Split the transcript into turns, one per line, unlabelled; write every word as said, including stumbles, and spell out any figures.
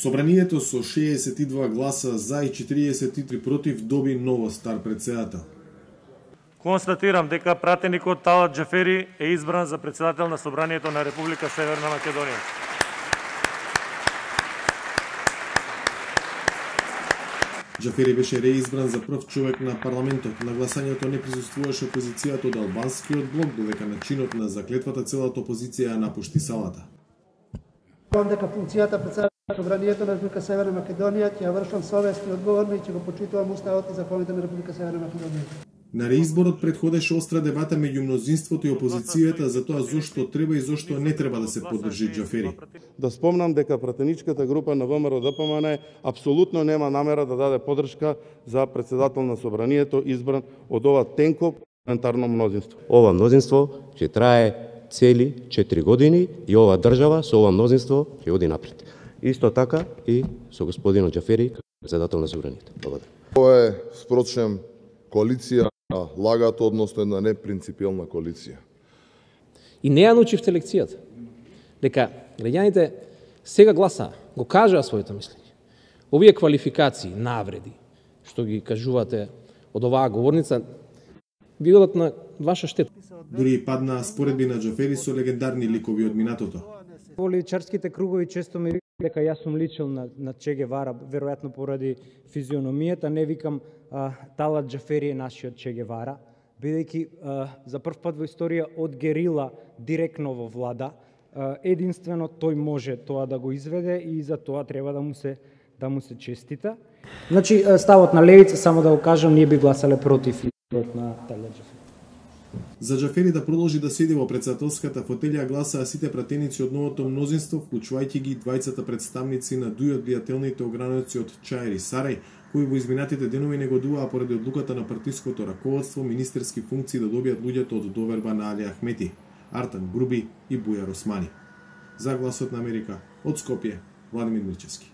Собранието со шеесет и два гласа за и четириесет и три против доби ново стар претседател.
Констатирам дека пратеникот Талат Џафери е избран за претседател на Собранието на Република Северна Македонија.
Џафери беше реизбран за прв човек на парламентот. На гласањето не присуствуваше опозицијата од албанскиот блок, додека на чинот на заклетвата целата опозиција напушти салата.
Помнам дека функцијата претседател на Собранието на Република Северна Македонија ќе ја вршам совесно и одговорно и ќе го почитувам уставот и законите на Република Северна Македонија.
На реизборот претходеше остра дебата меѓу мнозинството и опозицијата за тоа зошто треба и зошто не треба да се поддржи Џафери.
Да спомнам дека пратеничката група на ВМРО Д П М Н апсолутно нема намера да даде поддршка за претседател на Собранието избран од ова тенко парламентарно мнозинство.
Ова мнозинство ќе трае цели четири години и ова држава со ова мнозинство ќе оди напред. Исто така и со господинот Џафери како претседател на Собранието. Благодарам.
Ова е спрочем коалиција лагато, односно една непринципиелна коалиција.
И не ја научивте лекцијата. Дека граѓаните сега гласаа, го кажаа своето мислење. Овие квалификации, навреди, што ги кажувате од оваа говорница, бидат на ваша штета.
Дури и падна споредби на Џафери со легендарни ликови од минатото.
Во личарските кругови често ми дека јас сум личил на, на Че Гевара, веројатно поради физиономијата, не викам а, Талат Џафери е нашиот Че Гевара, бидејќи а, за прв пат во историја од герила директно во влада, а, единствено тој може тоа да го изведе и за тоа треба да му се да му се честита. Значи ставот на левица, само да го кажам, ние би гласале против изборот на Талат Џафери.
За Џафери да продолжи да седи во претседателската фотелја гласаа сите пратеници од новото мнозинство, вклучувајќи ги двајцата представници на дуј од влијателните ограници од Чаир и Сарај, кои во изминатите денови негодуваа поради одлуката на партиското раководство министерски функции да добијат луѓето од доверба на Али Ахмети, Артан Груби и Бујар Османи. За Гласот на Америка, од Скопје, Владимир Мирчевски.